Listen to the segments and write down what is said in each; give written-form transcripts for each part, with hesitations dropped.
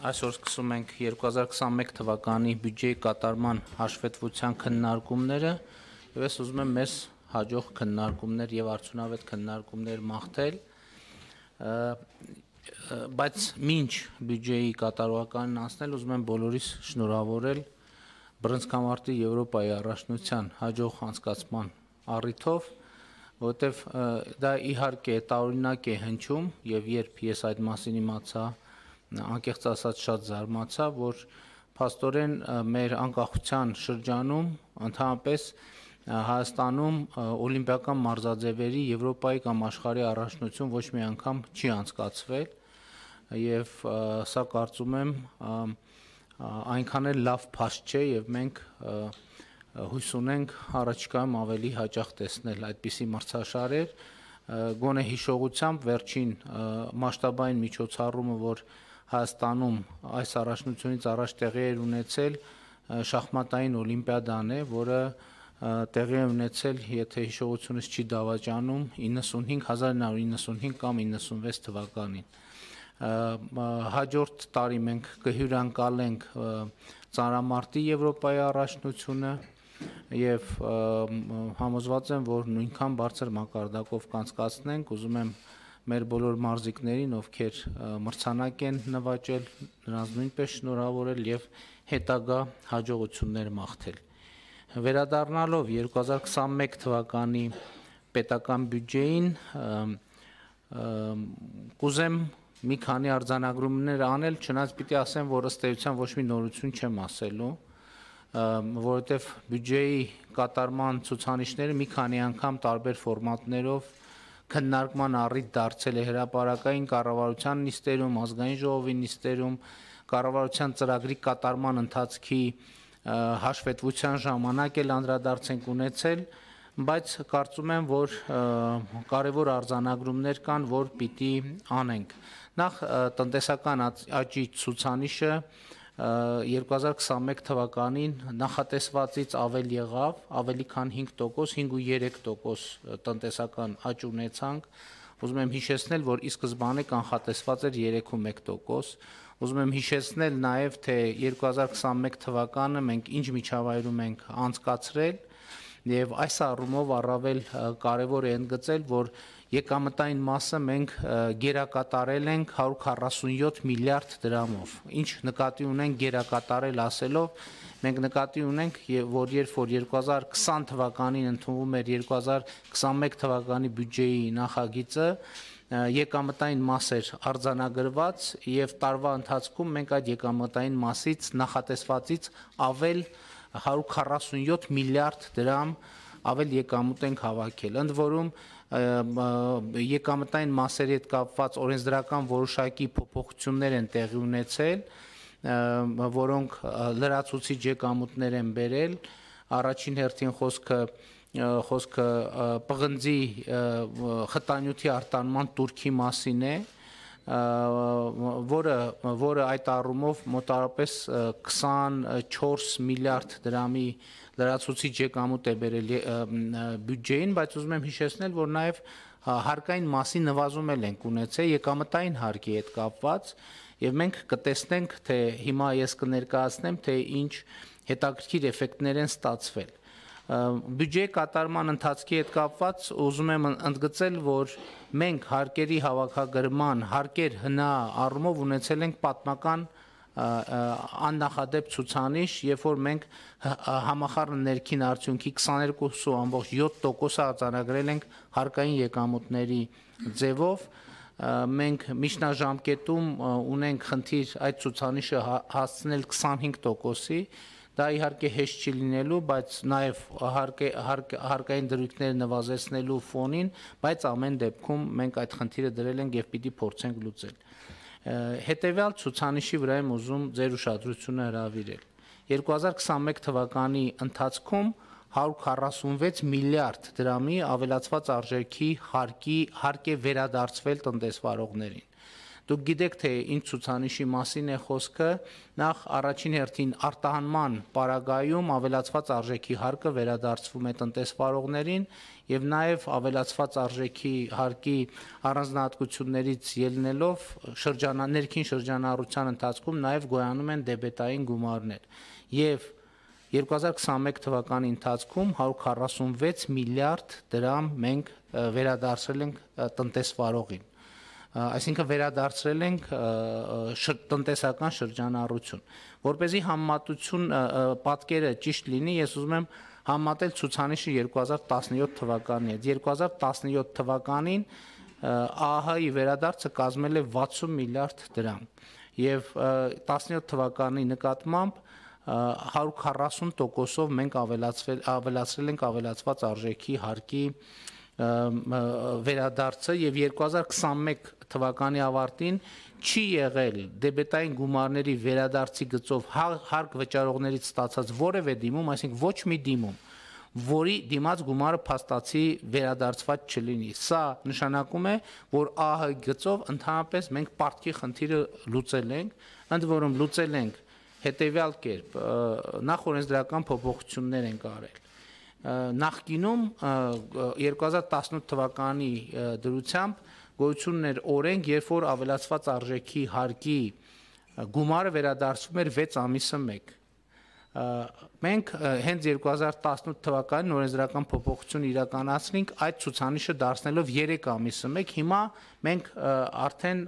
Այսօր սկսում ենք 2021 թվականի բյուջեի կատարման հաշվետվության քննարկումները եւ ես ուզում եմ մեզ հաջող քննարկումներ եւ արդյունավետ քննարկումներ մաղթել, բայց մինչ բյուջեի կատարողականին անցնել ուզում եմ բոլորիս շնորհավորել Բռնցքամարտի Եվրոպայի առաջնության հաջող անցկացման առիթով, որովհետեւ դա իհարկե տարօրինակ է հնչում եւ երբ ես այդ մասին իմացա, անկեղծ ասած շատ զարմացա, որ փաստորեն մեր անկախության շրջանում ընդհանրապես Հայաստանում օլիմպիական մարզաձևերի Եվրոպայի կամ աշխարհի առաջնություն ոչ մի անգամ չի անցկացվել եւ սա կարծում եմ այնքան էլ լավ փաստ չէ եւ մենք հույս ունենք առաջիկայում ավելի հաճախ տեսնել այդպիսի մրցաշարեր, գոնե հիշողությամբ վերջին մասշտաբային միջոցառումը, որ Հայաստանում այս առաջնությունից առաջ տեղի էր ունեցել շախմատային օլիմպիադան է, որը տեղի է ունեցել, եթե հիշողությունս չի դավաճանում, 1995 կամ 96 թվականին։ Հաջորդ տարի մենք կհյուրընկալենք ծանրամարտի Եվրոպայի առաջնությունը եւ համոզված եմ, որ նույնքան բարձր մակարդակով կանցկացնենք, ուզում եմ մեր բոլոր մարզիկներին, ովքեր մրցանակ են նվաճել, նրանց նույնպես շնորհավորել եւ հետագա հաջողություններ մաղթել։ Վերադառնալով 2021 թվականի պետական բյուջեին, կուզեմ մի քանի արձանագրումներ անել, չնայած պիտի ասեմ, որ ըստ էության ոչ մի նորություն չեմ ասելու, որովհետեւ բյուջեի կատարման ցուցանիշները մի քանի անգամ տարբեր ֆորմատներով քննարկման առիթ դարձել է հրապարակային կառավարության նիստերում, ազգային ժողովի նիստերում, կառավարության ծրագրի կատարման ընթացքի հաշվետվության ժամանակ էլ անդրադարձ ենք ունեցել, բայց կարծում եմ, որ կարևոր արձանագրումներ կան, որ պիտի անենք։ Նախ տնտեսական աճի ցուցանիշը 2021 թվականին նախատեսվածից ավել եղավ, ավելի քան 5%, 5.3% տնտեսական աճ ունեցանք։ Ուզում եմ հիշեցնել, որ ի սկզբանե կանխատեսված էր 3.1%։ Ուզում եմ հիշեցնել նաև, թե 2021 թվականը մենք ինչ միջավայրում ենք անցկացրել եւ այս առումով առավել կարեւոր է ընդգծել, որ եկամտային մասը մենք գերակատարել ենք 147 միլիարդ դրամով։ Ինչ նկատի ունենք գերակատարել ասելով, մենք նկատի ունենք, որ երբ որ 2020 թվականին ընդունվում էր 2021 թվականի բյուջեի նախագիծը, եկամտային մաս էր արձանագրված եւ տարվա ընթացքում մենք այդ եկամտային մասից նախատեսվածից ավել 147 միլիարդ դրամ ավել եկամուտ ենք հավաքել։ Ընդ որում եկամտային մասերի հետ կապված օրենսդրական որոշակի փոփոխություններ են տեղի ունեցել, որոնք լրացուցիչ եկամուտներ են բերել։ Առաջին հերթին խոսքը պղնձի խտանյութի արտանման տուրքի մասին է, որը այդ առումով մոտավորապես 24 միլիարդ դրամի լրացուցիչ եկամուտ է բերել բյուջեին, բայց ուզում եմ հիշեցնել, որ նաև հարկային մասի նվազում ենք ունեցել եկամտային հարկի հետ կապված, եւ մենք կտեսնենք, թե հիմա ես կներկայացնեմ, թե ինչ հետաքրքիր էֆեկտներ են ստացվել։ Բյուջեի կատարման ընթացքի հետ կապված ուզում եմ ընդգծել, որ մենք հարկերի հավաքագրման, հարկեր հնա առումով ունեցել ենք պատմական աննախադեպ ցուցանիշ, երբ որ մենք համախառն ներքին արդյունքի 22.7% արձանագրել ենք հարկային եկամուտների ձևով, մենք միջնաժամկետում ունենք խնդիր այդ ցուցանիշը հասցնել 25%-ի, դա իհարկե հեշտ չի լինելու, բայց նաև հարկային դրույթներ նվազեցնելու ֆոնին, բայց ամեն դեպքում մենք այդ խնդիրը դրել ենք եւ պիտի փորձենք լուծել։ Հետևյալ ցուցանիշի վրա եմ ուզում ձեր ուշադրությունը հրավիրել։ 2021 թվականի ընթացքում 146 միլիարդ դրամի ավելացված արժեքի հարկ է վերադարձվել տնտեսվարողներին։ Դուք գիտեք, թե ինչ ցուցանիշի մասին է խոսքը, նախ առաջին հերթին արտահանման պարագայում ավելացված արժեքի հարկը վերադարձվում է տնտեսվարողներին եւ նաեւ ավելացված արժեքի հարկի առանձնահատկություններից ելնելով ներքին շրջանառության ընթացքում նաեւ գոյանում են դեբետային գումարներ եւ 2021 թվականի ընթացքում 146 միլիարդ դրամ մենք վերադարձրել ենք տնտեսվարողին, այսինքն վերադարձրել ենք տնտեսական շրջանառություն, որպեսզի համեմատություն պատկերը ճիշտ լինի, ես ուզում եմ համատել ցուցանիշը 2017 թվականի հետ, 2017 թվականին ԱԱՀ-ի վերադարձը կազմել է 60 միլիարդ դրամ եւ 17 թվականի նկատմամբ 140%-ով մենք ավելացրել ենք ավելացված արժեքի հարկի վերադարձը եւ 2021 թվականի ավարտին չի եղել դեբետային գումարների վերադարձի գծով հարկ վճարողներից ստացած որևէ դիմում, այսինքն ոչ մի դիմում, որի դիմաց գումարը փաստացի վերադարձված չլինի։ Սա նշանակում է, որ ԱՀ գծով ընդհանրապես մենք պարտքի խնդիրը լուծել ենք, ընդ որում լուծել ենք հետեւյալ կերպ, նախ օրենսդրական փոփոխություններ ենք արել։ Նախկինում 2018 թվականի դրությամբ գոյություն ուներ օրենք, երբ որ ավելացված արժեքի հարկի գումարը վերադարձվում էր 6 ամիսը մեկ։ Մենք հենց 2018 թվականին օրենսդրական փոփոխություն իրականացրինք այդ ցուցանիշը դարձնելով 3 ամիսը մեկ, հիմա մենք արդեն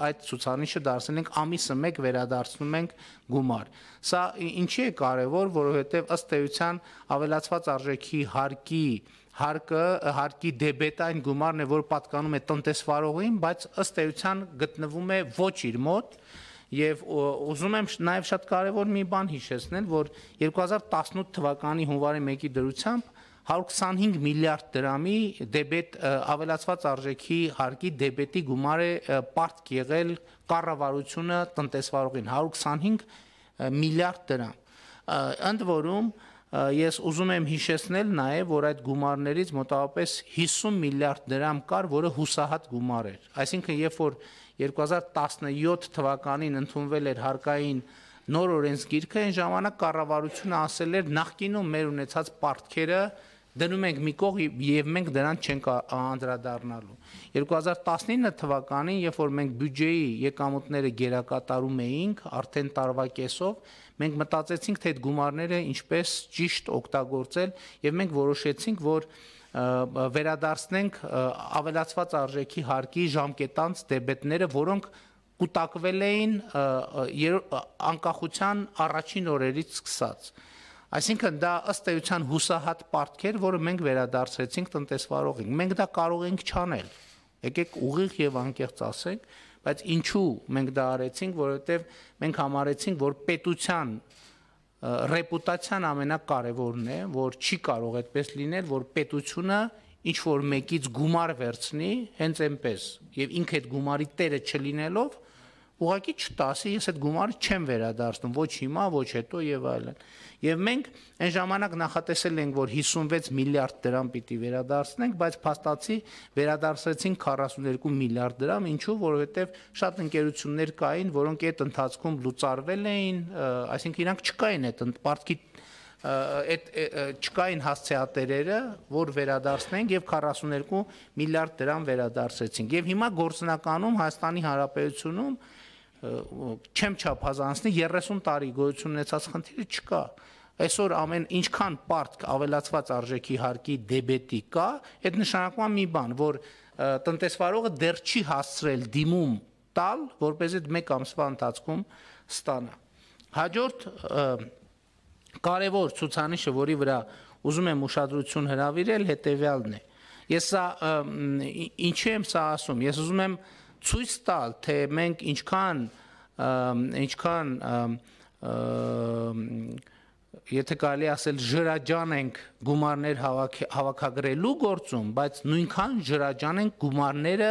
այդ ցուցանիշը դարձնել ենք ամիսը մեկ վերադարձնում ենք գումար։ Սա ինչի է կարևոր, որովհետև ըստ էության ավելացված արժեքի հարկի դեբետային գումարն է, որ պատկանում է տնտեսվարողին, բայց ըստ էության գտնվում է ոչ իր մոտ։ Եվ ուզում եմ նաև շատ կարևոր մի բան հիշեցնել, որ 2018 թվականի հունվարի 1-ի դրությամբ 125 միլիարդ դրամի ավելացված արժեքի հարկի դեբետի գումար է պարտք եղել կառավարությունը տնտեսվարողին 125 միլիարդ դրամ։ Ընդ որում ես ուզում եմ հիշեցնել նաև, որ այդ գումարներից մոտավորապես 50 միլիարդ դրամ կար, որը հուսահատ գումար էր։ Այսինքն, երբ որ 2017 թվականին ընդունվել էր հարկային նոր օրենսգիրքը, այն ժամանակ կառավարությունը ասել էր նախկինում մեր ունեցած պարտքերը դնում ենք մի կողմ եւ մենք դրան չենք անդրադառնալու։ 2019 թվականին, երբ որ մենք բյուջեի եկամուտները գերակատարում էինք արդեն տարվա կեսով, մենք մտածեցինք, թե այդ գումարները ինչպես ճիշտ օգտագործել եւ մենք որոշեցինք, որ վերադարձնենք ավելացված արժեքի հարկի ժամկետանց դեբետները, որոնք կուտակվել էին անկախության առաջին օրերից սկսած։ Այսինքն դա ըստ էության հուսահատ պարտք էր, որը մենք վերադարձրեցինք տնտեսվարողին։ Մենք դա կարող ենք չանել։ Եկեք ուղիղ եւ անկեղծ ասենք, բայց ինչու մենք դա արեցինք, որովհետեւ մենք համարեցինք, որ պետության ռեպուտացիան ամենակարևորն է, որ չի կարող այդպես լինել, որ պետությունը ինչ որ մեկից գումար վերցնի, հենց այնպես, եւ ինքը այդ գումարի տերը չլինելով, ուղղակի չտասի, ես այդ գումարը չեմ վերադարձնում, ոչ հիմա, ոչ հետո եւ այլն։ Եվ մենք այն ժամանակ նախատեսել ենք, որ 56 միլիարդ դրամ պիտի վերադարձնենք, բայց փաստացի վերադարձրեցինք 42 միլիարդ դրամ, ինչու, որովհետեւ շատ ընկերություններ կային, որոնք այդ ընթացքում լուծարվել էին, այսինքն իրանք չկային այդ պարտքի չկային հասցեատերերը, որ վերադարձնենք եւ 42 միլիարդ դրամ վերադարձրեցինք։ Եվ հիմա գործնականում Հայաստանի Հանրապետությունում չեմ չափազանցնի 30 տարի գոյություն ունեցած խնդիրը չկա։ Այսօր ամեն ինչքան պարտք ավելացված արժեքի հարկի դեբետի կա, այդ նշանակում է մի բան, որ տնտեսվարողը դեռ չի հասցրել դիմում տալ, որպեսզի մեկ ամսվա ընթացքում ստանա։ Հաջորդ կարևոր ցուցանիշը, որի վրա ուզում եմ ուշադրություն հրավիրել, հետեւյալն է։ Ես սա ինչի եմ սա ասում, ես ուզում եմ ցույց տալ, թե մենք ինչքան եթե կարելի ասել ժրաջան ենք գումարներ հավաքագրելու գործում, բայց նույնքան ժրաջան ենք գումարները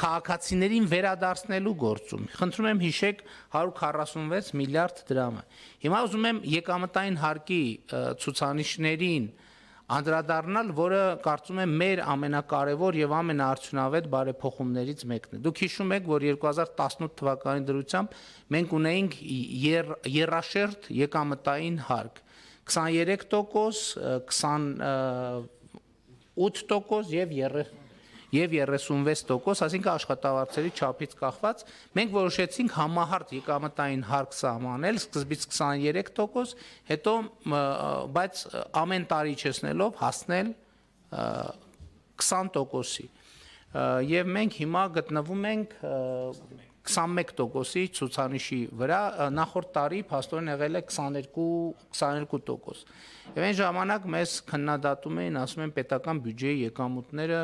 քաղաքացիներին վերադարձնելու գործում։ Խնդրում եմ հիշեք 146 միլիարդ դրամը։ Հիմա ուզում եմ եկամտային հարկի ցուցանիշներին անդրադառնալ, որը կարծում եմ մեր ամենակարևոր եւ ամենաարդյունավետ բարեփոխումներից մեկն է։ Դուք հիշում եք, որ 2018 թվականի դրությամբ մենք ունեինք եռաշերտ եկամտային հարկ 23%, 28% եւ 36%, այսինքն աշխատավարձերի չափից կախված, մենք որոշեցինք համահարթ եկամտային հարկ սահմանել, սկզբից 23%, հետո բայց ամեն տարի չեսնելով հասնել 20%-ի։ Եւ մենք հիմա գտնվում ենք 21%-ի ցուցանիշի վրա, նախորդ տարի փաստորեն եղել է 22%։ Եվ այն ժամանակ մեզ քննադատում էին, ասում են պետական բյուջեի եկամուտները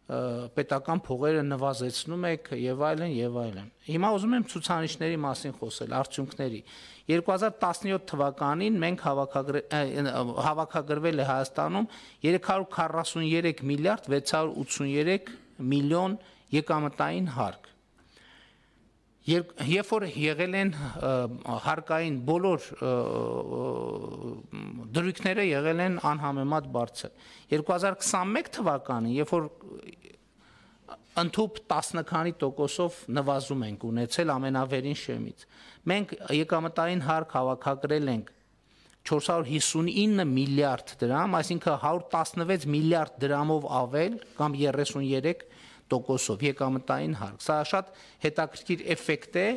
պետական փողերը նվազեցնում եք եւ այլն եւ այլն։ Հիմա ուզում եմ ցուցանիշների մասին խոսել, արդյունքների։ 2017 թվականին մենք հավաքագրվել է Հայաստանում 343 միլիարդ 683 միլիոն եկամտային հարկ։ Երբ որ եղել են հարկային բոլոր դրույքները եղել են անհամեմատ բարձր։ 2021 թվականին, երբ որ ընդհուպ 10 քանի տոկոսով նվազում ենք ունեցել ամենավերին շեմից, մենք եկամտային հարկ հավաքագրել ենք 459 միլիարդ դրամ, այսինքն 116 միլիարդ դրամով ավել կամ 33%-ով եկամտային հարկ։ Սա շատ հետաքրքիր էֆեկտ է,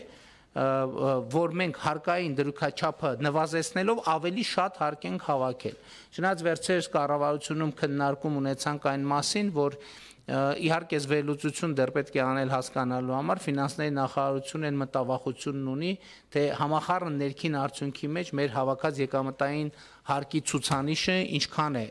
որ մենք հարկային դրույքաչափը նվազեցնելով ավելի շատ հարկ ենք հավաքել։ Չնայած վերջերս կառավարությունում քննարկում ունեցանք այն մասին, որ իհարկե վերլուծություն դեռ պետք է անել հասկանալու համար, ֆինանսների նախարարությունը այն մտավախությունն ունի, թե համախառն ներքին արդյունքի մեջ մեր հավաքած եկամտային հարկի ցուցանիշը ինչքան է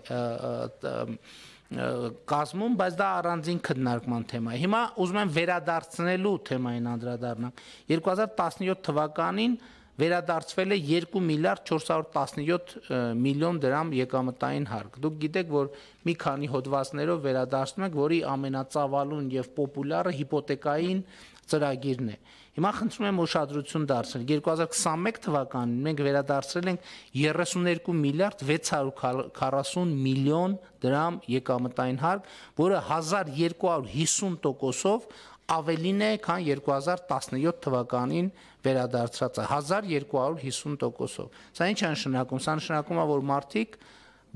կազմում, բայց դա առանձին քննարկման թեմա է։ Հիմա ուզում եմ վերադարձնելու թեմային անդրադառնալ։ 2017 թվականին վերադարձվել է 2 միլիարդ 417 միլիոն դրամ եկամտային հարկ։ Դուք գիտեք, որ մի քանի հոդվածներով վերադարձնում ենք, որի ամենածավալուն եւ պոպուլյարը հիպոթեկային ծրագիրն է։ Հիմա խնդրում եմ ուշադրություն դարձնել։ 2021 թվականին մենք վերադարձրել ենք 32 միլիարդ 640 միլիոն դրամ եկամտային հարկ, որը 1250%-ով ավելին է, քան 2017 թվականին վերադարձած է, 1250%-ով։ Սա ինչ է նշանակում։ Սա նշանակում է, որ մարդիկ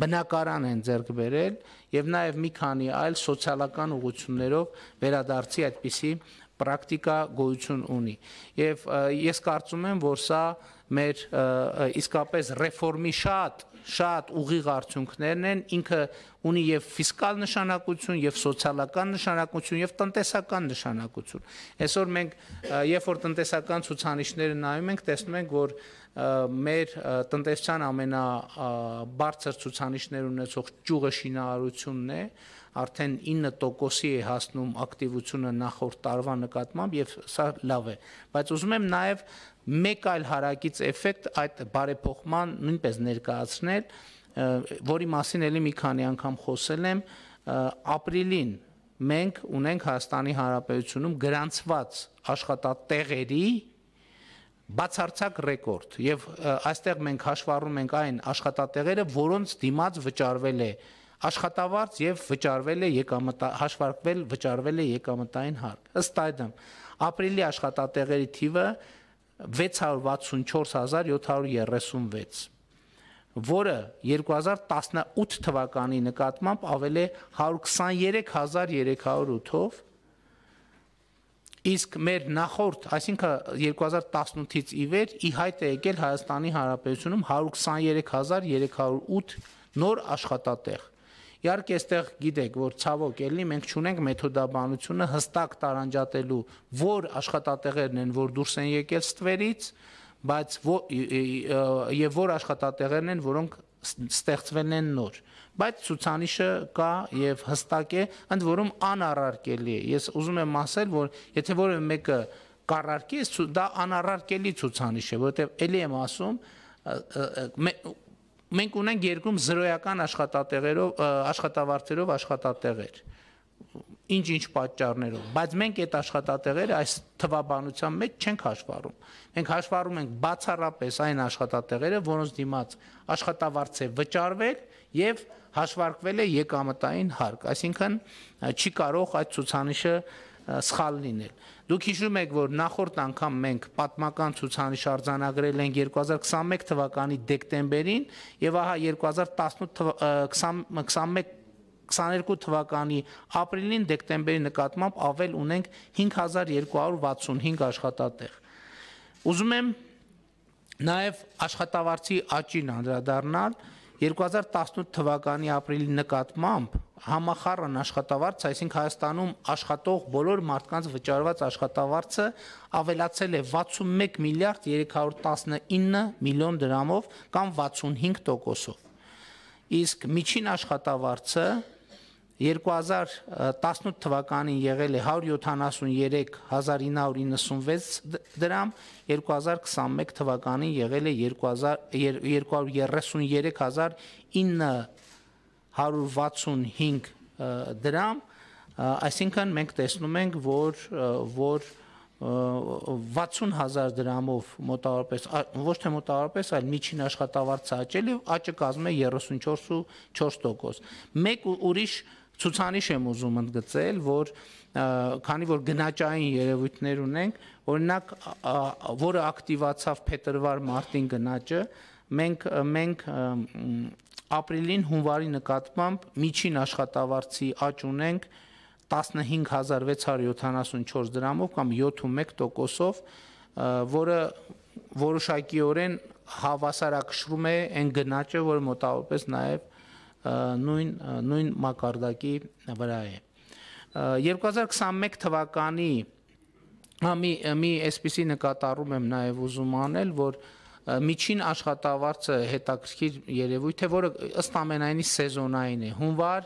բնակարան են ձեռք բերել եւ նաեւ մի քանի այլ սոցիալական ուղղություններով վերադարձի այդպիսի պրակտիկա գոյություն ունի։ Եվ ես կարծում եմ, որ սա մեր իսկապես ռեֆորմի շատ ուղիղ արդյունքներն են, ինքը ունի եւ ֆիսկալ նշանակություն, եւ սոցիալական նշանակություն, եւ տնտեսական նշանակություն։ Այսօր մենք, երբ որ տնտեսական ցուցանիշները նայում ենք, տեսնում ենք, որ մեր տնտեսության ամենաբարձր ցուցանիշներ ունեցող ճյուղը շինարարությունն է, արդեն 9%-ի է հասնում ակտիվությունը նախորդ տարվա նկատմամբ եւ սա լավ է, բայց ուզում եմ նաեւ մեկ այլ հարակից էֆեկտ այդ բարեփոխման նույնպես ներկայացնել, որի մասին էլի մի քանի անգամ խոսել եմ, ապրիլին մենք ունենք Հայաստանի Հանրապետությունում գրանցված աշխատատեղերի բացարձակ ռեկորդ եւ այստեղ մենք հաշվառում ենք այն աշխատատեղերը, որոնց դիմաց վճարվել է աշխատավարձ եւ վճարվել է եկամտային հարկ։ Ըստ այդմ, ապրիլի աշխատատեղերի թիվը 664736, որը 2018 թվականի նկատմամբ ավել է 123308-ով, իսկ մեր նախորդ, այսինքն 2018-ից ի վեր ի հայտ է եկել Հայաստանի Հանրապետությունում 123308 նոր աշխատատեղ։ Իհարկե, այստեղ գիտեք, որ ցավոք էլի մենք չունենք մեթոդաբանությունը հստակ տարանջատելու, որ աշխատատեղերն են, որ դուրս են եկել ստվերից, բայց եւ որ աշխատատեղերն են, որոնք ստեղծվել են նոր։ Բայց ցուցանիշը կա եւ հստակ է, ընդ որում անառարկելի է։ Ես ուզում եմ ասել, որ եթե որևէ մեկը կառարկի, դա անառարկելի ցուցանիշ է, որովհետեւ էլի եմ ասում, մենք ունենք երկրում զրոյական աշխատատեղերով աշխատավարձերով աշխատատեղեր։ ինչ պատճառներով, բայց մենք այդ աշխատատեղերը այս թվաբանության մեջ չենք հաշվառում։ Մենք հաշվառում ենք բացառապես այն աշխատատեղերը, որոնց դիմաց աշխատավարձ է վճարվել եւ հաշվարկվել է եկամտային հարկ, այսինքն չի կարող այդ ցուցանիշը սխալ լինել։ Դուք հիշում եք, որ նախորդ անգամ մենք պատմական ցուցանիշ արձանագրել ենք 2021 թվականի դեկտեմբերին եւ ահա 2022 թվականի ապրիլին դեկտեմբերի նկատմամբ ավել ունենք 5265 աշխատատեղ։ Ուզում եմ նաեւ աշխատավարձի աճին անդրադառնալ 2018 թվականի ապրիլի նկատմամբ համախառն աշխատավարձ, այսինքն Հայաստանում աշխատող բոլոր մարդկանց վճարված աշխատավարձը ավելացել է 61 միլիարդ 319 միլիոն դրամով կամ 65%-ով։ Իսկ միջին աշխատավարձը 2018 թվականին եղել է 173,996 դրամ, 2021 թվականին եղել է 233,965 դրամ, այսինքն մենք տեսնում ենք, որ 60,000 դրամով մոտավորապես, ոչ թե մոտավորապես, այլ միջին աշխատավարձը աճել է, աճը կազմում է 34.4%։ Մեկ ուրիշ ցուցանիշ եմ ուզում ընդգծել, որ քանի որ գնաճային երևույթներ ունենք, օրինակ, որը ակտիվացավ փետրվար-մարտին գնաճը, մենք ապրիլին հունվարի նկատմամբ միջին աշխատավարձի աճ ունենք 15674 դրամով կամ 7.1%-ով, որը որոշակիորեն հավասարակշռում է այն գնաճը, որը մոտավորապես նաև նույն մակարդակի վրա է։ 2021 թվականի մի այսպիսի նկատառում եմ նաև ուզում անել, որ միջին աշխատավարձը հետաքրքիր երևույթ է, որը ըստ ամենայնի սեզոնային է։ Հունվար,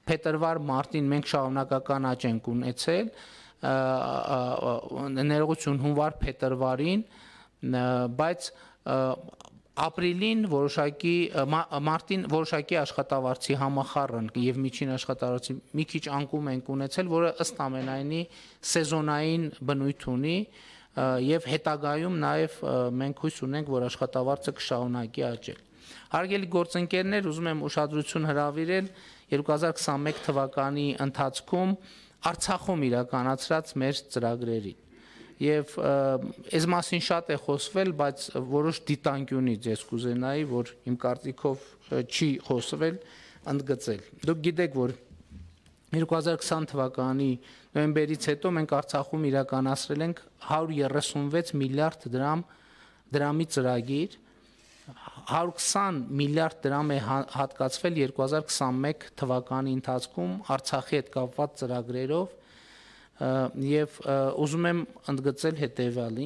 փետրվար, մարտին մենք շարունակական աճ ենք ունեցել, ներողություն հունվար, փետրվարին, բայց ապրիլին մարտին որոշակի աշխատավարձի համախառն եւ միջին աշխատավարձի մի քիչ անկում ենք ունեցել, որը ըստ ամենայնի սեզոնային բնույթ ունի եւ հետագայում նաեւ մենք հույս ունենք, որ աշխատավարձը կշարունակի աճել։ Հարգելի գործընկերներ, ուզում եմ ուշադրություն հրավիրել 2021 թվականի ընթացքում Արցախում իրականացրած մեր ծրագրերին։ Եվ այս մասին շատ է խոսվել, բայց որոշ դիտանկյունից ես կուզենայի, որ իմ կարծիքով չի խոսվել, ընդգծել։ Դուք գիտեք, որ 2020 թվականի նոյեմբերից հետո մենք Արցախում իրականացրել ենք 136 միլիարդ դրամի ծրագիր, 120 միլիարդ դրամ է հատկացվել 2021 թվականի ընթացքում Արցախի հետ կապված ծրագրերով եւ ուզում եմ ընդգծել հետեւյալը.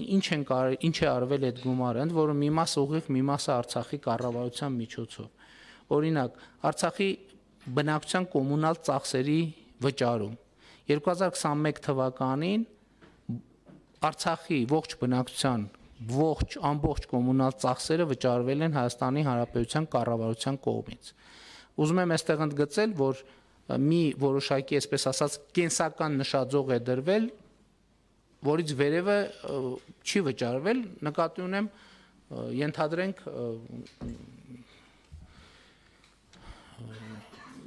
ինչ է արվել այդ գումարը, ընդ որում մի մասը ուղիղ, մի մասը Արցախի կառավարության միջոցով։ Օրինակ, Արցախի բնակչության կոմունալ ծախսերի վճարում 2021 թվականին Արցախի ողջ բնակչության ամբողջ կոմունալ ծախսերը վճարվել են Հայաստանի Հանրապետության կառավարության կողմից։ Ուզում եմ այստեղ ընդգծել, որ մի որոշակի, այսպես ասած, կենսական նշաձող է դրվել, որից վերևը չի վճարվել, նկատի ունեմ, ենթադրենք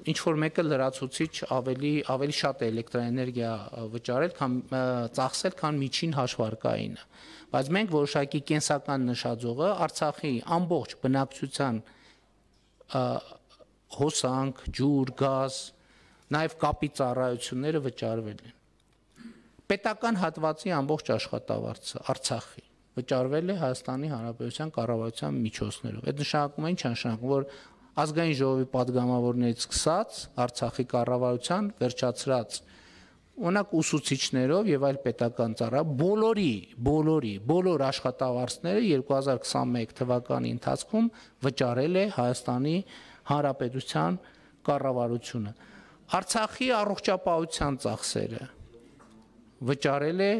ինչ որ մեկը լրացուցիչ ավելի շատ էլեկտրաէներգիա վճարել, ծախսել, քան միջին հաշվարկայինը։ Բայց մենք որոշակի կենսական նշաձողը Արցախի ամբողջ բնակչության հոսանք, ջուր, գազ, նաև կապի ծառայությունները վճարվել են։ Պետական հատվածի ամբողջ աշխատավարձը Արցախի վճարվել է Հայաստանի Հանրապետության կառավարության միջոցներով։ Այդ նշանակում է ինչ նշանակում, որ ազգային ժողովի падգամավորներից սկսած Արցախի կառավարության վերջացրած օրինակ ուսուցիչներով եւ այլ պետական ծառա բոլոր աշխատավարձները 2021 թվականի ընթացքում վճարել է Հայաստանի Հանրապետության կառավարությունը։ Արցախի առողջապահության ծախսերը վճարել է,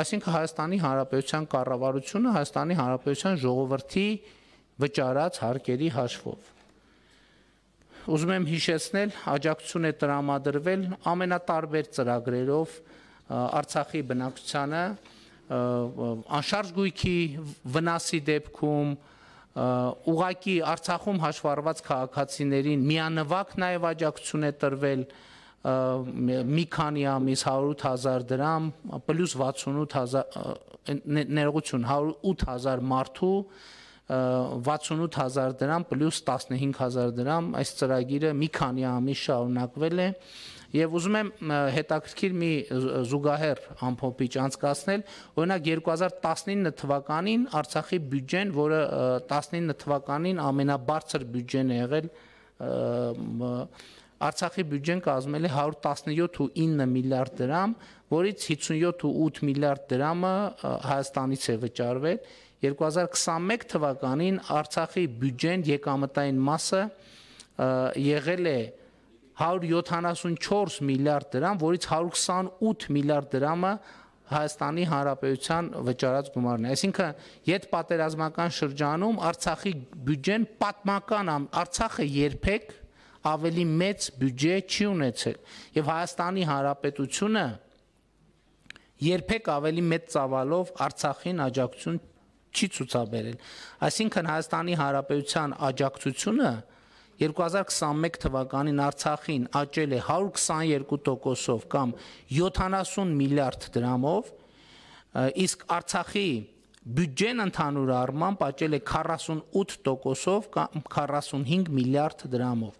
այսինքն Հայաստանի Հանրապետության կառավարությունը Հայաստանի Հանրապետության ժողովրդի վճարած հարկերի հաշվով։ ուզում եմ հիշեցնել, աջակցություն է տրամադրվել ամենատարբեր ծրագրերով Արցախի բնակչությանը, անշարժ գույքի վնասի դեպքում, ուղղակի Արցախում հաշվառված քաղաքացիներին միանվագ նաև աջակցություն է տրվել մի քանի ամիս 108,000 դրամ, պլյուս 68,000 ներողություն 108,000 մարդու 68,000 դրամ պլյուս 15,000 դրամ, այս ծրագիրը մի քանի ամիս շարունակվել է եւ ուզում եմ հետաքրքիր մի զուգահեռ ամփոփիչ անցկացնել, օրինակ 2019 թվականին Արցախի բյուջեն, որը 19 թվականին ամենաբարձր բյուջեն է եղել, Արցախի բյուջեն կազմել է 117.9 միլիարդ դրամ, որից 57.8 միլիարդ դրամը Հայաստանից է վճարվել, 2021 թվականին Արցախի բյուջեն եկամտային մասը եղել է 174 միլիարդ դրամ, որից 128 միլիարդ դրամը Հայաստանի Հանրապետության վճարած գումարն է։ Այսինքն, յետպատերազմական շրջանում Արցախի բյուջեն պատմական Արցախը երբեք ավելի մեծ բյուջե չի ունեցել եւ Հայաստանի Հանրապետությունը երբեք ավելի մեծ ծավալով Արցախին աջակցություն չի ցուցաբերել։ Այսինքն Հայաստանի Հանրապետության աջակցությունը 2021 թվականին Արցախին աճել է 122%-ով կամ 70 միլիարդ դրամով, իսկ Արցախի բյուջեն ընդհանուր առմամբ աճել է 48%-ով կամ 45 միլիարդ դրամով։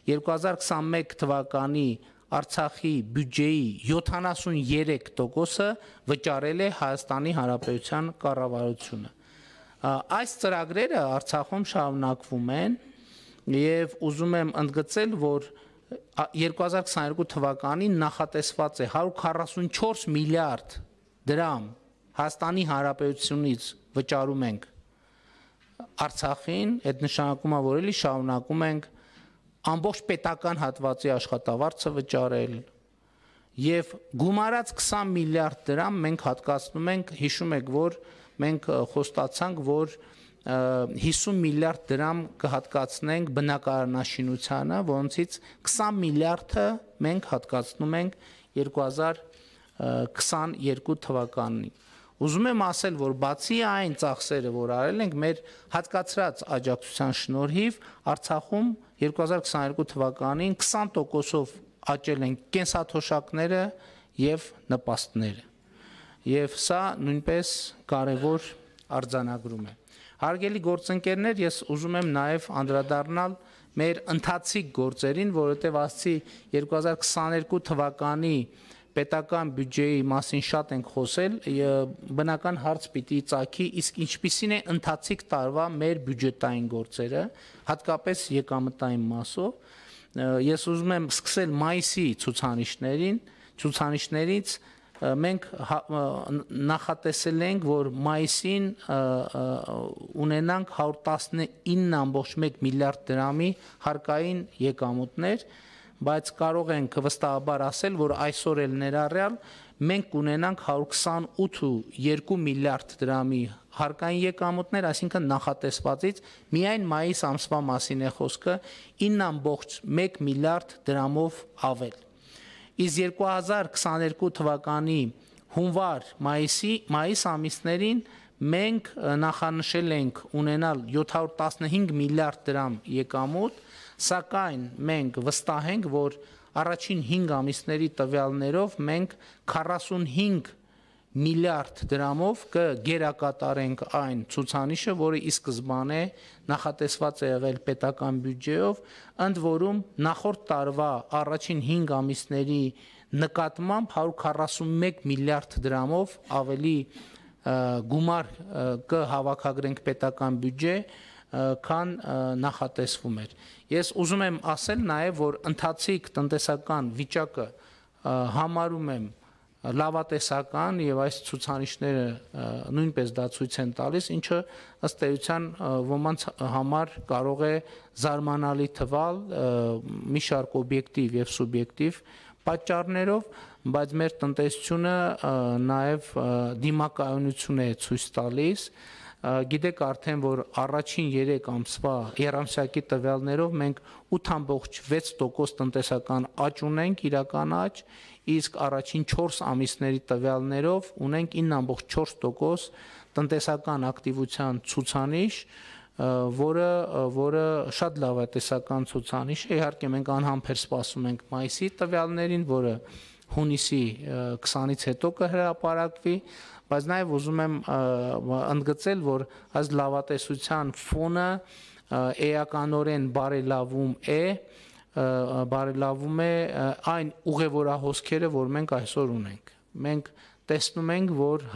2021 թվականի Արցախի բյուջեի 73%-ը վճարել է Հայաստանի Հանրապետության կառավարությունը։ Այս ծրագրերը Արցախում շարունակվում են եւ ուզում եմ ընդգծել, որ 2022 թվականին նախատեսված է 144 միլիարդ դրամ Հայաստանի Հանրապետությունից վճարում ենք Արցախին, այդ նշանակում է, որ էլի շարունակում ենք ամբողջ պետական հատվածի աշխատավարձը վճարել եւ գումարած 20 միլիարդ դրամ մենք հատկացնում ենք, հիշում եք, որ մենք խոստացանք, որ 50 միլիարդ դրամ կհատկացնենք բնակարանաշինությանը, որոնցից 20 միլիարդը մենք հատկացնում ենք 2022 թվականին։ Ուզում եմ ասել, որ բացի այն ծախսերը, որ արել ենք, մեր հատկացրած աջակցության շնորհիվ Արցախում 2022 թվականին 20%-ով աճել են կենսաթոշակները եւ նպաստները։ Եվ սա նույնպես կարևոր արձանագրում է։ Հարգելի գործընկերներ, ես ուզում եմ նաև անդրադառնալ մեր ընթացիկ գործերին, որովհետև ասացի 2022 թվականի պետական բյուջեի մասին շատ ենք խոսել, բնական հարց պիտի ծագի, իսկ ինչպիսին է ընթացիկ տարվա մեր բյուջետային գործերը, հատկապես եկամտային մասով։ Ես ուզում եմ սկսել մայիսի ցուցանիշներից, մենք նախատեսել ենք, որ մայիսին ունենանք 119.1 միլիարդ դրամի հարկային եկամուտներ, բայց կարող ենք վստահաբար ասել, որ այսօր էլ ներառյալ մենք կունենանք 128.2 միլիարդ դրամի հարկային եկամուտներ, այսինքն նախատեսվածից միայն մայիս ամսվա մասին է խոսքը 9.1 միլիարդ դրամով ավել։ Իսկ 2022 թվականի հունվար-մայիս ամիսներին մենք նախանշել ենք ունենալ 715 միլիարդ դրամ եկամուտ, սակայն մենք վստահ ենք, որ առաջին 5 ամիսների տվյալներով մենք 45 միլիարդ դրամով կգերակատարենք այն ցուցանիշը, որը ի սկզբանե նախատեսված է եղել պետական բյուջեով, ընդ որում նախորդ տարվա առաջին 5 ամիսների նկատմամբ 141 միլիարդ դրամով ավելի գումար կհավաքագրենք պետական բյուջե, քան նախատեսվում էր։ Ես ուզում եմ ասել նաև, որ ընթացիկ տնտեսական վիճակը համարում եմ լավատեսական եւ այս ցուցանիշները նույնպես դա ցույց են տալիս, ինչը ըստ էության ոմանց համար կարող է զարմանալի թվալ մի շարք օբյեկտիվ եւ սուբյեկտիվ պատճառներով, բայց մեր տնտեսությունը նաև դիմակայունություն է ցույց տալիս, գիտեք արդեն, որ առաջին 3 ամսվա երամսյակի տվյալներով մենք 8.6% տնտեսական աճ ունենք, իրական աճ, իսկ առաջին 4 ամիսների տվյալներով ունենք 9.4% տնտեսական ակտիվության ցուցանիշ, որը շատ լավ է տեսական ցուցանիշ է, իհարկե մենք անհամբեր սպասում ենք մայիսի տվյալներին, որը հունիսի 20-ից հետո կհրապարակվի, բայց նաև ուզում եմ ընդգծել, որ այս լավատեսության ֆոնը էականորեն բարելավում է այն ուղևորահոսքերը, որ մենք այսօր ունենք։ Մենք տեսնում ենք, որ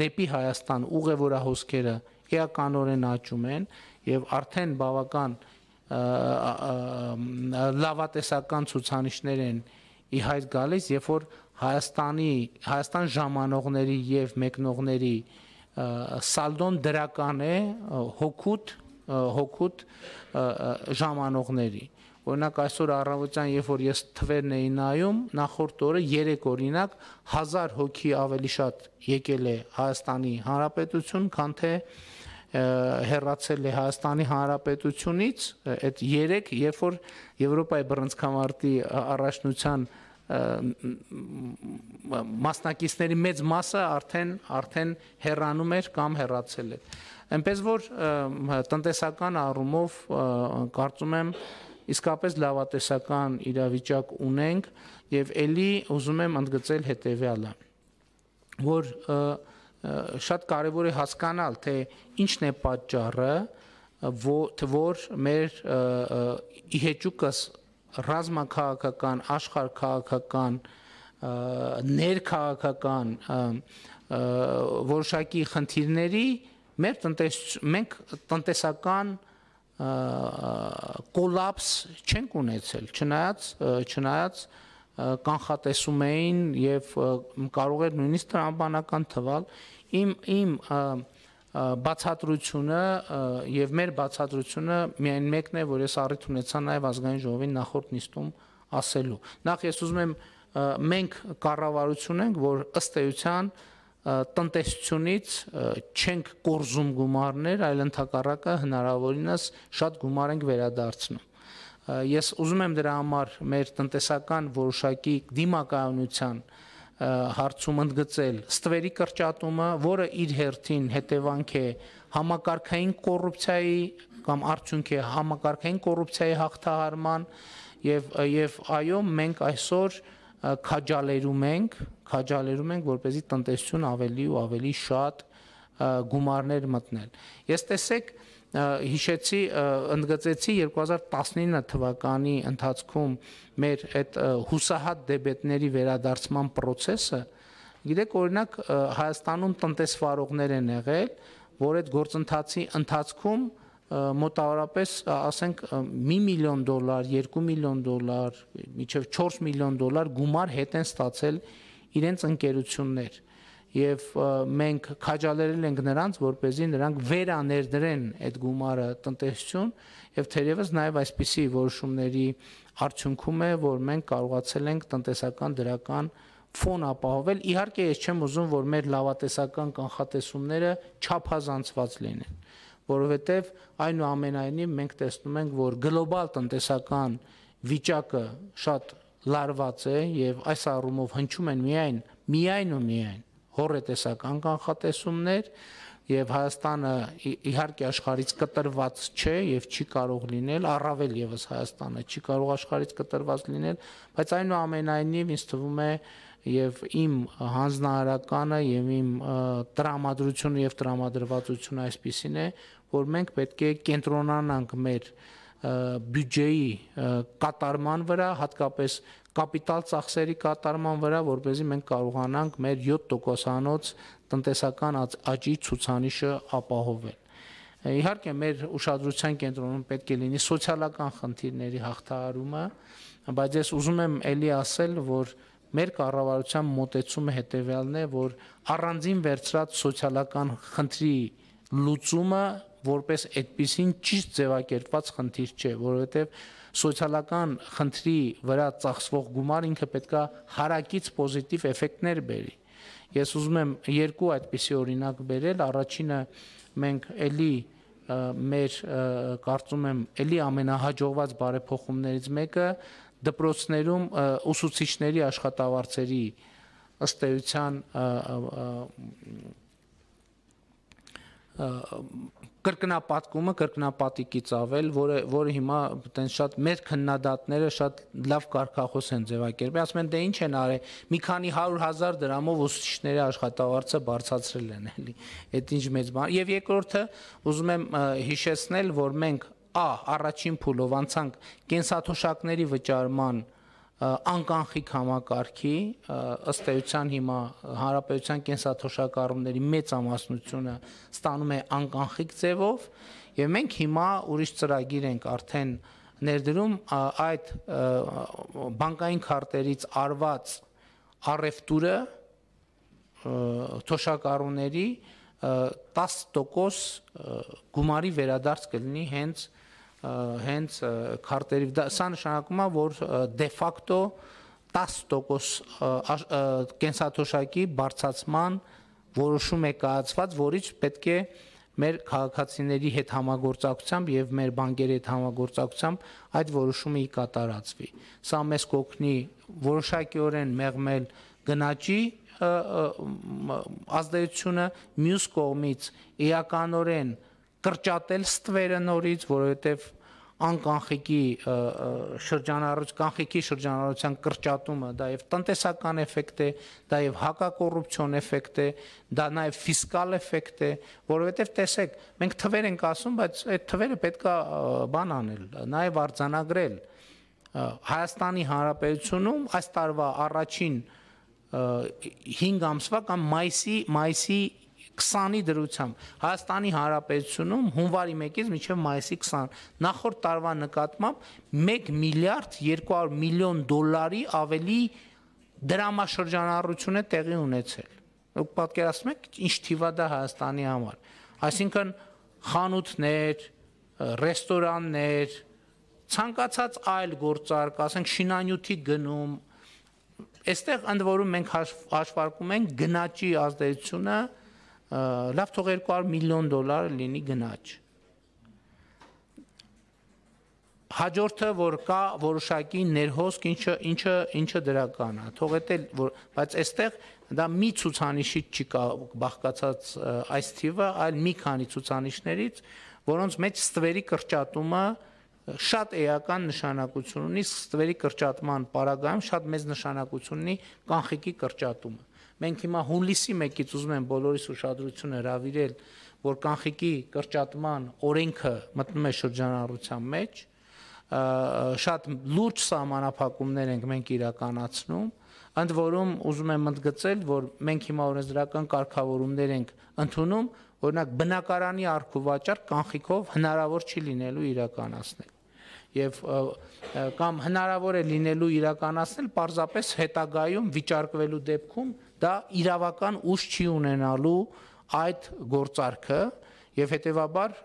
դեպի Հայաստան ուղևորահոսքերը էականորեն աճում են եւ արդեն բավական լավատեսական ցուցանիշներ են ի հայտ գալիս, երբ որ Հայաստան ժամանողների եւ մեկնողների սալդոն դրական է հօգուտ ժամանողների։ Օրինակ այսօր առավոտյան, երբ որ ես թվերն էի նայում, նախորդ օրը 3 օրինակ 1000 հոգի ավելի շատ եկել է Հայաստանի Հանրապետություն, քան թե հեռացել է Հայաստանի Հանրապետությունից, այդ 3, երբ որ Եվրոպայի բռնցքամարտի առաջնության մասնակիցների մեծ մասը արդեն հեռանում էր կամ հեռացել էր։ Այնպես որ տնտեսական առումով կարծում եմ իսկապես լավատեսական իրավիճակ ունենք եւ ելի ուզում եմ ընդգծել հետեւյալը, որ շատ կարևոր է հասկանալ, թե ինչն է պատճառը, որ մեր իհեճուկս ռազմաքաղաքական, աշխարհքաղաքական, ներքաղաքական որոշակի խնդիրների մենք տնտեսական կոլապս չենք ունեցել, չնայած կանխատեսում էին եւ կարող էր նույնիսկ տրամաբանական թվալ իմ բացատրությունը եւ մեր բացատրությունը միայն մեկն է, որ ես առիթ ունեցա նաեւ ազգային ժողովի նախորդ նիստում ասելու։ Նախ ես ուզում եմ մենք կառավարություն ենք, որ ըստ էության տնտեսությունից չենք կորզում գումարներ, այլ ընդհակառակը հնարավորինս շատ գումար ենք վերադարձնում։ Ես ուզում եմ դրա համար մեր տնտեսական որոշակի դիմակայունության հարցում ընդգծել ստվերի կրճատումը, որը իր հերթին հետևանք է համակարգային կոռուպցիայի կամ արդյունք է համակարգային կոռուպցիայի հաղթահարման եւ այո, մենք այսօր քաջալերում ենք, որպեսզի տնտեսություն ավելի ու ավելի շատ գումարներ մտնել։ Ես տեսեք հիշեցի, ընդգծեցի 2019 թվականի ընթացքում մեր այդ հուսահատ դեբետների վերադարձման process-ը, գիտեք, օրինակ Հայաստանում տնտեսվարողներ են եղել, որ այդ գործընթացի ընթացքում մոտավորապես ասենք $1 միլիոն, $2 միլիոն, մինչև $4 միլիոն գումար հետ են ստացել իրենց ընկերություններ եւ մենք քաջալերել ենք նրանց, որպեսզի նրանք վերաներդրեն այդ գումարը տնտեսություն եւ թերևս նաեւ այսպիսի որոշումների արդյունքում է, որ մենք կարողացել ենք տնտեսական դրական ֆոն ապահովել։ Իհարկե ես չեմ ուզում, որ մեր լավատեսական կանխատեսումները չափազանցված լինեն, որովհետեւ այնուամենայնիվ մենք տեսնում ենք, որ գլոբալ տնտեսական վիճակը շատ լարված է եւ այս առումով հնչում են միայն հոռետեսական կանխատեսումներ եւ Հայաստանը իհարկե աշխարհից կտրված չէ եւ չի կարող լինել, առավել եւս Հայաստանը չի կարող աշխարհից կտրված լինել, բայց այնուամենայնիվ ինձ թվում է եւ իմ հանձնարարականը եւ իմ տրամադրությունը եւ տրամադրվածությունը այսպիսին է, որ մենք պետք է կենտրոնանանք մեր բյուջեի կատարման վրա, հատկապես կապիտալ ծախսերի կատարման վրա, որպեսզի մենք կարողանանք մեր 7%-անոց տնտեսական աճի ցուցանիշը ապահովել։ Իհարկե մեր ուշադրության կենտրոնում պետք է լինի սոցիալական խնդիրների հաղթահարումը, բայց ես ուզում եմ ելի ասել, որ մեր կառավարության մոտեցումը հետևյալն է, որ առանձին վերցրած սոցիալական խնդրի լուծումը որպես այդպիսին ճիշտ ձևակերպված խնդիր չէ, որովհետև սոցիալական խնդրի վրա ծախսվող գումար ինքը պետքա հարակից պոզիտիվ էֆեկտներ բերի։ Ես ուզում եմ երկու այդպիսի օրինակ բերել, առաջինը մենք էլի մեր կարծում եմ էլի ամենահաջողված բարեփոխումներից մեկը դպրոցներում ուսուցիչների աշխատավարձերի ըստ էության կրկնապատկումը, կրկնապատիկից ավել, որը հիմա տենց շատ մեր քննադատները շատ լավ կարգախոս են ձևակերպել, ասում են դե ինչ են արել, մի քանի 100,000 դրամով ուսուցիչների աշխատավարձը բարձրացրել են, էլի, այդ ինչ մեծ բան։ Եվ երկրորդը ուզում եմ հիշեցնել, որ մենք առաջին փուլով անցանք կենսաթոշակների վճարման անկանխիկ համակարգի, ըստ էության հիմա հանրապետության կենսաթոշակառուների մեծամասնությունը ստանում է անկանխիկ ձևով, եւ մենք հիմա ուրիշ ծրագիր ենք արդեն ներդրում այդ բանկային քարտերից արված առևտուրը թոշակառուների 10% գումարի վերադարձ կլինի հենց քարտերի, սա նշանակում է, որ դե ֆակտո 10% կենսաթոշակի բարձրացման որոշում է կայացված, որից պետք է մեր քաղաքացիների հետ համագործակցությամբ եւ մեր բանկերի հետ համագործակցությամբ այդ որոշումը կատարածվի։ Սա մեզ կօգնի որոշակիորեն մեղմել գնաճի ազդեցությունը, մյուս կողմից էականորեն կրճատել ստվերը նորից, որովհետև անկանխիկի շրջանառության կրճատումը դա եւ տնտեսական էֆեկտ է, դա եւ հակակոռուպցիոն էֆեկտ է, դա նաեւ ֆիսկալ էֆեկտ է, որովհետեւ տեսեք, մենք թվեր ենք ասում, բայց այդ թվերը պետքա բան անել, նաեւ արձանագրել։ Հայաստանի Հանրապետությունում այս տարվա առաջին 5 ամսվա կամ մայիսի 20-ի դրությամբ Հայաստանի Հանրապետությունում հունվարի 1-ից մինչև մայիսի 20 նախորդ տարվա նկատմամբ 1 միլիարդ 200 միլիոն դոլարի ավելի դրամաշրջանառություն է տեղի ունեցել։ Դուք պատկերացնում եք ինչ թիվ է դա Հայաստանի համար։ Այսինքն խանութներ, ռեստորաններ, ցանկացած այլ գործարք, ասենք շինանյութի գնում, այստեղ ընդ որում մենք հաշվարկում ենք գնաճի ազդեցությունը լավ թող 200 միլիոն դոլար լինի գնաճ։ Հաջորդը որ կա որոշակի ներհոսք, ինչը դրական է, թող էտել, բայց այստեղ դա մի ցուցանիշից չի բաղկացած այս թիվը, այլ մի քանի ցուցանիշներից, որոնց մեջ ստվերի կրճատումը շատ էական նշանակություն ունի, ստվերի կրճատման պարագայում շատ մեծ նշանակություն ունի կանխիկի կրճատումը։ Մենք հիմա հունիսի 1-ից ուզում եմ բոլորիս ուշադրությունը հրավիրել, որ կանխիկի կրճատման օրենքը մտնում է շրջանառության մեջ, շատ լուրջ սահմանափակումներ ենք մենք իրականացնում, ընդ որում ուզում եմ ընդգծել, որ մենք հիմա օրենսդրական կարգավորումներ ենք ընդունում, օրինակ բնակարանի առքուվաճառք կանխիկով հնարավոր չի լինելու իրականացնել։ Եվ կամ հնարավոր է լինելու իրականացնել պարզապես հետագայում վիճարկվելու դեպքում դա իրավական ուժ չի ունենալու այդ գործարքը եւ հետեւաբար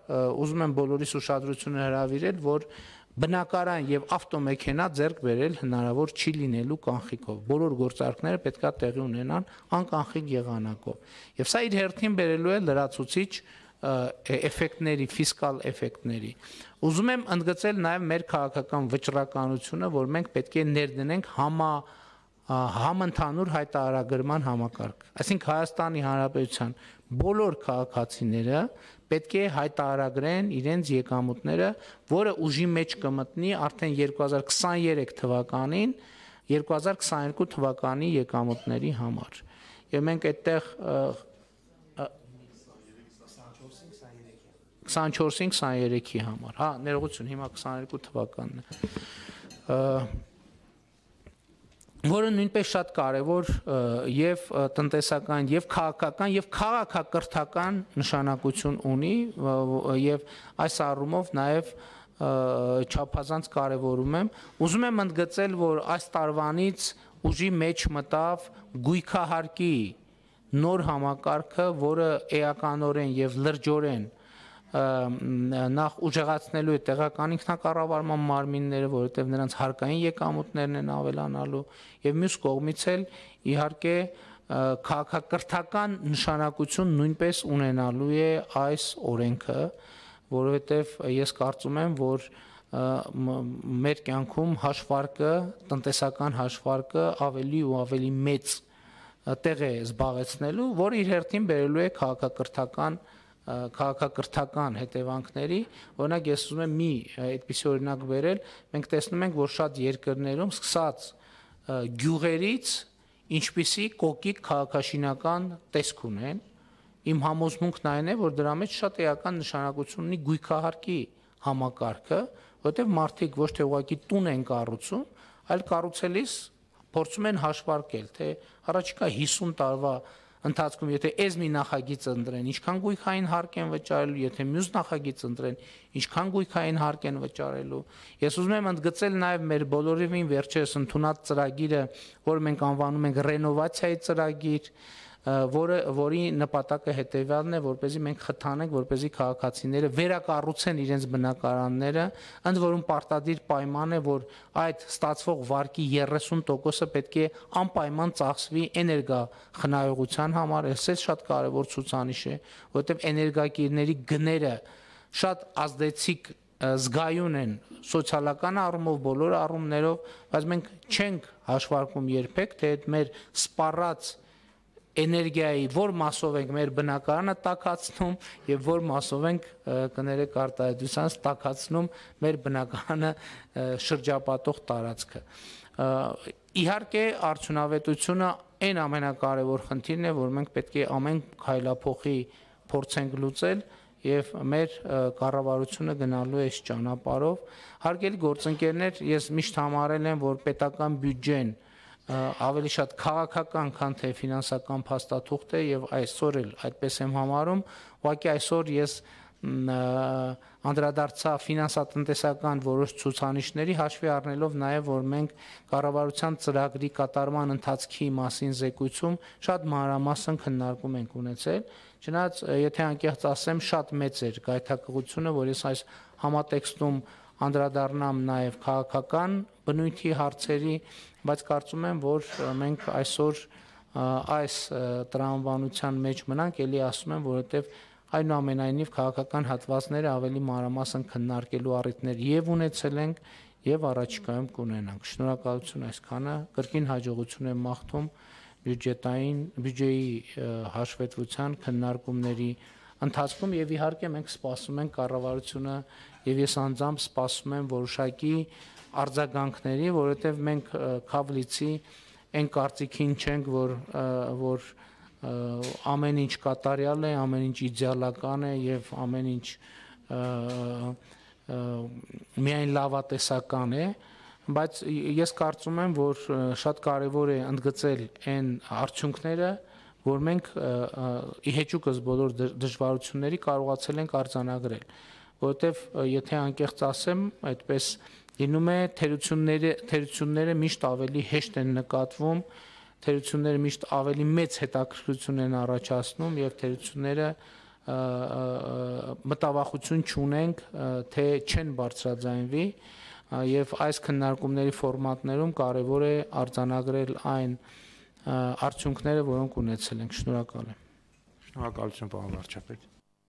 ուզում եմ բոլորիս ուշադրությունը հրավիրել, որ բնակարան եւ ավտոմեքենա ձեռք բերել հնարավոր չի լինելու կանխիկով։ Բոլոր գործարքները պետքա տեղի ունենան անկանխիկ եղանակով։ Եվ սա իր հերթին բերելու է լրացուցիչ էֆեկտների, ֆիսկալ էֆեկտների։ Ուզում եմ ընդգծել նաև մեր քաղաքական վճռականությունը, որ մենք պետք է ներդնենք համընդհանուր հայտարարագրման համակարգ։ Այսինքն Հայաստանի Հանրապետության բոլոր քաղաքացիները պետք է հայտարարագրեն իրենց եկամուտները, որը ուժի մեջ կմտնի արդեն 2023 թվականին, 2022 թվականի եկամուտների համար։ Եվ մենք այդտեղ 24-23-ի համար, հա, ներողություն, հիմա 22 թվականն է, որը նույնպես շատ կարևոր եւ տնտեսական եւ քաղաքական եւ քաղաքակրթական նշանակություն ունի եւ այս առումով նաեւ չափազանց կարևորում եմ։ Ուզում եմ ընդգծել, որ այս տարվանից ուժի մեջ մտավ գույքահարկի նոր համակարգը, որը էականորեն եւ լրջորեն նախ ուժեղացնելու է տեղական ինքնակառավարման մարմինները, որովհետև նրանց հարկային եկամուտներն են ավելանալու եւ մյուս կողմից էլ իհարկե քաղաքակրթական նշանակություն նույնպես ունենալու է այս օրենքը, որովհետև ես կարծում եմ, որ մեր կյանքում հաշվարկը, տնտեսական հաշվարկը ավելի ու ավելի մեծ տեղ է զբաղեցնելու, որը իր հերթին բերելու է քաղաքակրթական հետևանքների, օրինակ ես ուզում եմ մի այդպիսի օրինակ բերել, մենք տեսնում ենք, որ շատ երկրներում սկսած գյուղերից ինչպիսի կոկիկ քաղաքաշինական տեսք ունեն, իմ համոզմունքն այն է, որ դրա մեջ շատ էական նշանակություն ունի գույքահարկի համակարգը, որտեղ մարդիկ ոչ թե ուղղակի տուն են կառուցում, այլ կառուցելիս փորձում են հաշվարկել, թե առաջիկա 50 տարվա ընթացքում, եթե այս մի նախագիծ ընտրեն, ինչքան գույքային հարկ են վճարելու, եթե մյուս նախագիծ ընտրեն, ինչքան գույքային հարկ են վճարելու։ Ես ուզում եմ ընդգծել նաև մեր բոլորովին վերջերս ընդունած ծրագիրը, որը մենք անվանում ենք ռենովացիայի ծրագիր, որի նպատակը հետևյալն է, որպեսզի մենք խթանենք, որպեսզի քաղաքացիները վերակառուցեն իրենց բնակարանները, ընդ որում պարտադիր պայման է, որ այդ ստացվող վարկի 30%-ը պետք է անպայման ծախսվի էներգախնայողության համար, այս շատ կարևոր ցուցանիշ է, որովհետև էներգակիրների գները շատ ազդեցիկ զգայուն են սոցիալական առումով, բոլոր առումներով, բայց մենք չենք հաշվարկում երբեք, թե այդ մեր սպառած էներգիայի որ մասով ենք մեր բնակարանը տաքացնում եւ որ մասով ենք կներեք արտահայտությանս տաքացնում մեր բնակարանը շրջապատող տարածքը։ Իհարկե արդյունավետությունը այն ամենակարևոր խնդիրն է, որ մենք պետք է ամեն քայլափոխի փորձենք լուծել եւ մեր կառավարությունը գնալու է այս ճանապարհով։ Հարգելի գործընկերներ, ես միշտ համարել եմ, որ պետական բյուջեն ավելի շատ քաղաքական, քան թե ֆինանսական փաստաթուղթ է եւ այսօր էլ այդպես եմ համարում, ուղղակի այսօր ես անդրադարձա ֆինանսատնտեսական որոշ ցուցանիշների հաշվի առնելով նաեւ, որ մենք կառավարության ծրագրի կատարման ընթացքի մասին զեկույցում շատ մանրամասն քննարկում ենք ունեցել, չնայած եթե անկեղծ ասեմ, շատ մեծ էր գայթակղությունը, որ ես այս համատեքստում անդրադառնամ նաեւ քաղաքական բնույթի հարցերի, բայց կարծում եմ, որ մենք այսօր այս տրամաբանության մեջ մնանք, ելի ասում եմ, որովհետև այնուամենայնիվ քաղաքական հատվածները ավելի մանրամասն քննարկելու առիթներ եւ ունեցել ենք եւ առաջիկայում կունենանք։ Շնորհակալություն այսքանը, կրկին հաջողություն եմ մաղթում բյուջեի հաշվետվության քննարկումների ընթացքում եւ իհարկե մենք սպասում ենք կառավարությունը եւ ես անձամբ սպասում եմ որոշակի արձագանքների, որովհետև մենք քավլիցի այն կարծիքին չենք, որ ամեն ինչ կատարյալ է, ամեն ինչ իդեալական է եւ ամեն ինչ միայն լավատեսական է, բայց ես կարծում եմ, որ շատ կարեւոր է ընդգծել այն արդյունքները, որ մենք իհեճուկս բոլոր դժվարությունների կարողացել ենք արձանագրել, որովհետև եթե անկեղծ ասեմ, այդպես լինում է թերությունները միշտ ավելի հեշտ են նկատվում, թերությունները միշտ ավելի մեծ հետաքրքրություն են առաջացնում եւ թերությունները մտավախություն չունենք, թե չեն բարձրաձայնվի եւ այս քննարկումների ֆորմատներում կարեւոր է արձանագրել այն արդյունքները, որոնք ունեցել ենք։ Շնորհակալ եմ։ Շնորհակալություն, պարոն վարչապետ։